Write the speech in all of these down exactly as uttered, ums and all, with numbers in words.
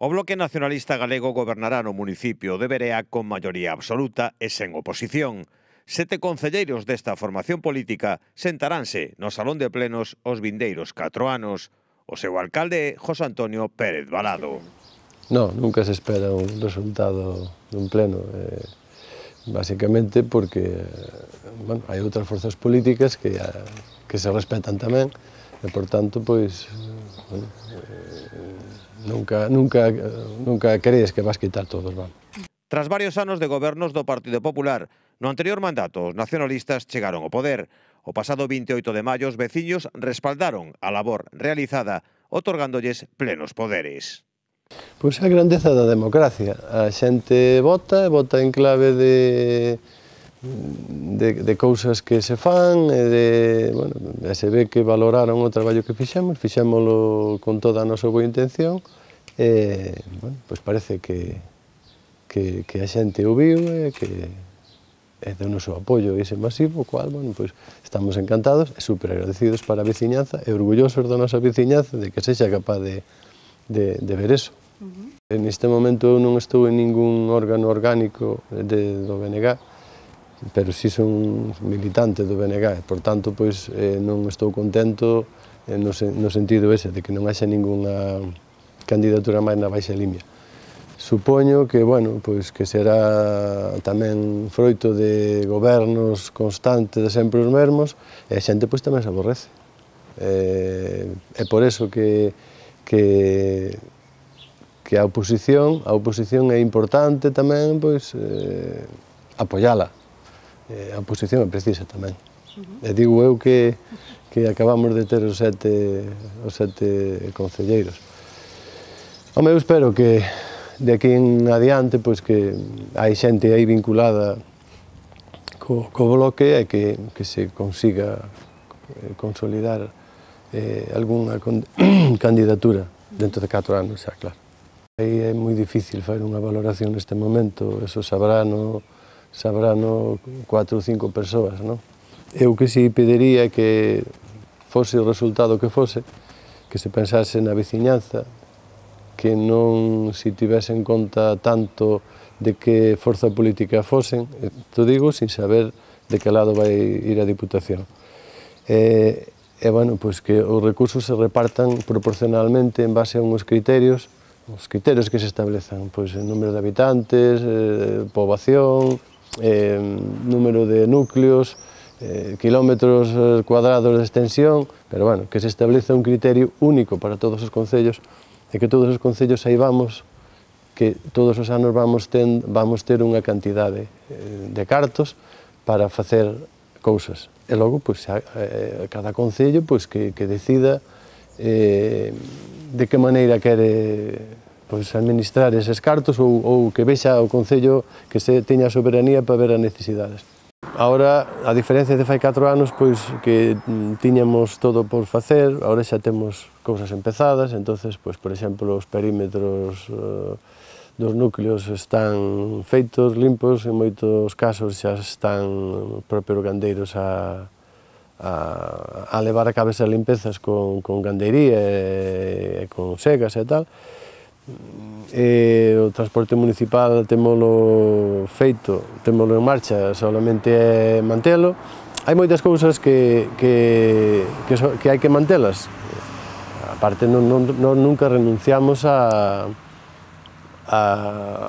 O Bloque Nacionalista Galego gobernará no municipio de Verea con maioría absoluta e sen oposición. Sete concelleiros desta formación política sentaránse no Salón de Plenos os vindeiros catro anos. O seu alcalde é José Antonio Pérez Balado. Non, nunca se espera un resultado dun pleno, eh, basicamente porque bueno, hai outras forzas políticas que, que se respetan tamén e, por tanto, pois, bueno, eh, nunca, nunca, nunca crees que vas quitar todos, vamos. Tras varios anos de gobernos do Partido Popular, no anterior mandato os nacionalistas chegaron ao poder. O pasado vinte e oito de maio os veciños respaldaron a labor realizada otorgándolles plenos poderes. Pois a grandeza da democracia. A xente vota, vota en clave de, de, de cousas que se fan, e de, bueno, se ve que valoraron o traballo que fixemos, fixémolo con toda a nosa boa intención, e, bueno, pois parece que, que, que a xente o viu e que é do noso apoio ese masivo, cual, bueno, pois estamos encantados e super agradecidos para a veciñanza e orgullosos da nosa veciñanza de que sexa capaz de, de, de ver eso. Uh-huh. En este momento eu non estou en ningún órgano orgánico de, do B N G, pero si son militante do B N G, e, por tanto, pois, eh, non estou contento eh, no, no sentido ese, de que non haxa ningunha candidatura máis na baixa limia. Supoño que, bueno, pois, que será tamén froito de gobernos constantes de sempre os mesmos, e a xente pois, tamén se aborrece. Eh, é por eso que, que que a oposición, a oposición é importante tamén, pois, eh, apoiala. Eh, a oposición é precisa tamén. Uh-huh. E digo eu que, que acabamos de ter os sete, os sete concelleiros. Home, eu espero que de aquí en adiante, pois, que hai xente aí vinculada co, co bloque e que, que se consiga eh, consolidar eh, algunha con, candidatura dentro de catro anos, xa, claro. Aí é moi difícil fazer unha valoración neste momento, eso sabrá no, sabrá no cuatro ou cinco persoas, non? Eu que si pediría que fose o resultado que fose, que se pensase na veciñanza, que non se tivese en conta tanto de que forza política fosen, te digo sin saber de que lado vai ir a Diputación. E, e bueno, pois que os recursos se repartan proporcionalmente en base a uns criterios, os criterios que se establezan, pois, el número de habitantes, eh, poboación, eh, número de núcleos, eh, kilómetros cuadrados de extensión, pero, bueno, que se estableza un criterio único para todos os concellos e que todos os concellos saibamos que todos os anos vamos, ten, vamos ter unha cantidade de cartos para facer cousas. E logo, pois, a, a, cada concello, pois, que, que decida eh, de que maneira quere pois, administrar eses cartos ou, ou que vexa o Concello que se teña a soberanía para ver as necesidades. Ahora, a diferencia de fai catro anos, pois que tiñamos todo por facer, ahora xa temos cousas empezadas, entonces, pois, por exemplo, os perímetros uh, dos núcleos están feitos, limpos, en moitos casos xa están os propios gandeiros a A, a levar a cabo esas limpezas con, con gandeiría e, e con segas e tal. E o transporte municipal temolo feito, temolo en marcha, solamente é mantelo. Hai moitas cousas que, que, que, so, que hai que mantelas. A parte, non, non, non, nunca renunciamos a, a,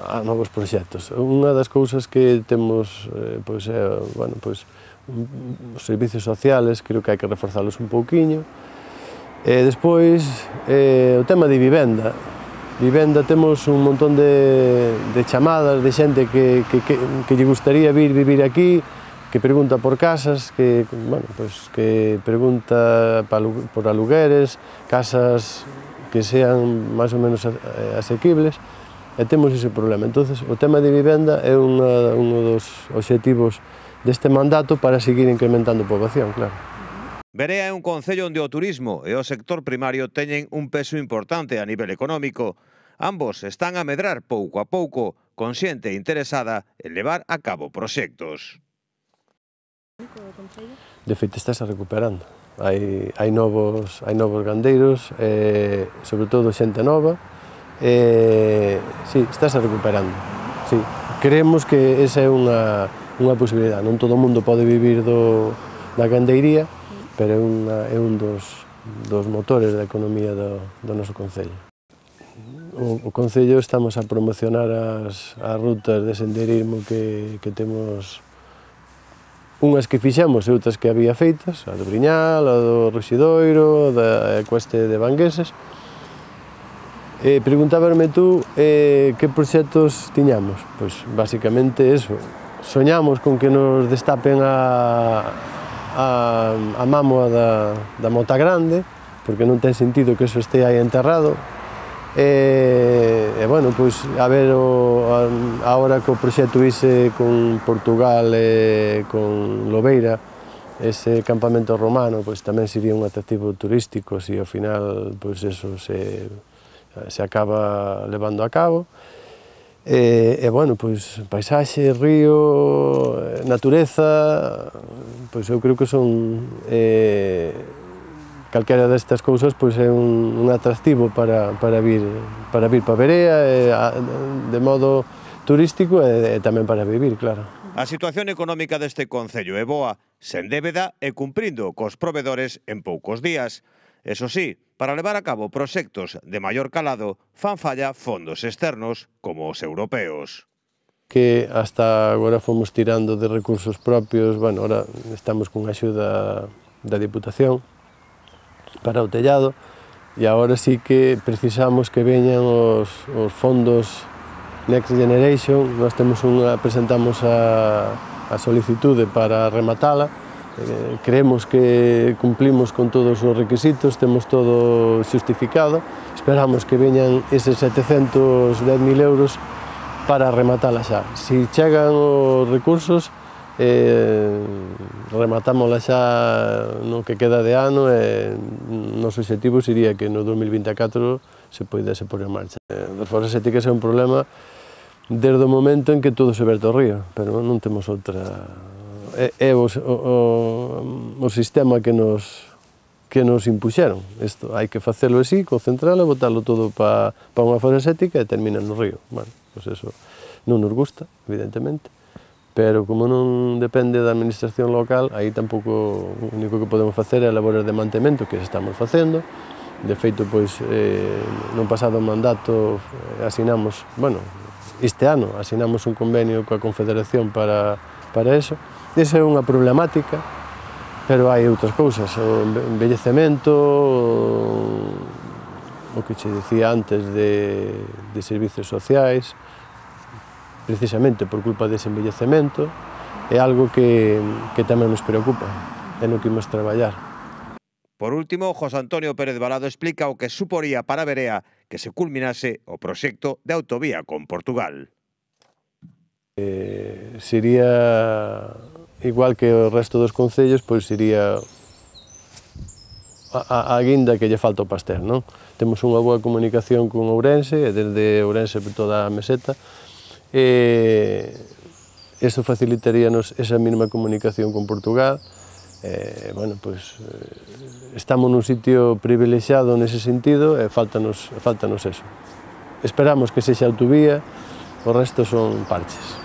a novos proxectos. Unha das cousas que temos, eh, pois, é, bueno, pois, os servicios sociales, creo que hai que reforzalos un pouquiño. E despois, eh, o tema de vivenda. Vivenda, temos un montón de, de chamadas de xente que, que, que, que lle gustaría vir vivir aquí, que pregunta por casas, que, bueno, pues, que pregunta por alugueres, casas que sean máis ou menos asequibles, e temos ese problema. Entonces, o tema de vivenda é unha, un dos obxectivos deste mandato para seguir incrementando a poboación, claro. Verea é un concello onde o turismo e o sector primario teñen un peso importante a nivel económico. Ambos están a medrar pouco a pouco, con xente interesada en levar a cabo proxectos. De feito, estáse recuperando. Hai, hai, novos, hai novos gandeiros, eh, sobre todo xente nova, Eh, sí, estáse recuperando, sí. Creemos que esa é unha, unha posibilidade. Non todo o mundo pode vivir do, da gandeiría, pero é, unha, é un dos, dos motores da economía do, do noso concello. O, o concello estamos a promocionar as, as rutas de senderismo que, que temos, unhas que fixemos e outras que había feitas, a do Briñal, a do Ruxidoiro, da Cueste de Vangueses. Eh, preguntábame tú eh, que proxectos tiñamos. Pois, basicamente, eso. Soñamos con que nos destapen a, a, a mámoa da, da Mota Grande, porque non ten sentido que eso este aí enterrado. E, e bueno, pois, a ver, o, a, agora que o proxecto ise con Portugal e con Lobeira, ese campamento romano, pois tamén sería un atractivo turístico, se ao final, pois eso se... se acaba levando a cabo. E, e bueno, pois, paisaxe, río, natureza, pois eu creo que son eh, calquera destas cousas pois é un, un atractivo para, para vir para vir para Verea, e, a, de modo turístico e, e tamén para vivir, claro. A situación económica deste concello é boa, sen débeda e cumprindo cos provedores en poucos días. Eso sí, para levar a cabo proxectos de maior calado fan falla fondos externos como os europeos. Que hasta agora fomos tirando de recursos propios, bueno, ahora estamos con a axuda da Diputación para o tellado e agora sí que precisamos que veñan os, os fondos Next Generation. Nós temos unha, presentamos a, a solicitude para rematala. Eh, creemos que cumplimos con todos os requisitos, temos todo xustificado, esperamos que veñan eses setecentos dez mil euros para rematala xa. Si chegan os recursos, eh, rematámola xa no que queda de ano e o noso objetivo sería que no dos mil vinte e catro se poidese pôr en marcha. Eh, das foras éticas é un problema desde o momento en que todo se verte ao río, pero non temos outra... É, é o, o, o sistema que nos, que nos impuxeron. Isto, hai que facelo así, concentralo, botalo todo para pa unha fosa ética e termina no río. Bueno, pois eso non nos gusta, evidentemente, pero como non depende da administración local, aí tampouco o único que podemos facer é labores de mantemento que estamos facendo. De feito, pois, eh, no pasado mandato asinamos, bueno, este ano asinamos un convenio coa Confederación para, para eso. Esa é unha problemática, pero hai outras cousas, o envellecemento, o, o que che dicía antes de, de servicios sociais, precisamente por culpa dese envellecemento, é algo que, que tamén nos preocupa, é no que imos traballar. Por último, José Antonio Pérez Balado explica o que suporía para Verea que se culminase o proxecto de autovía con Portugal. Eh, sería... igual que o resto dos concellos, pois sería a, a guinda que lle falta o pastel, non? Temos unha boa comunicación con Ourense, e desde Ourense por toda a meseta, e iso facilitaríanos esa mínima comunicación con Portugal. E, bueno, pois, estamos nun sitio privilexiado nese sentido e faltanos, faltanos eso. Esperamos que sexa autovía, o resto son parches.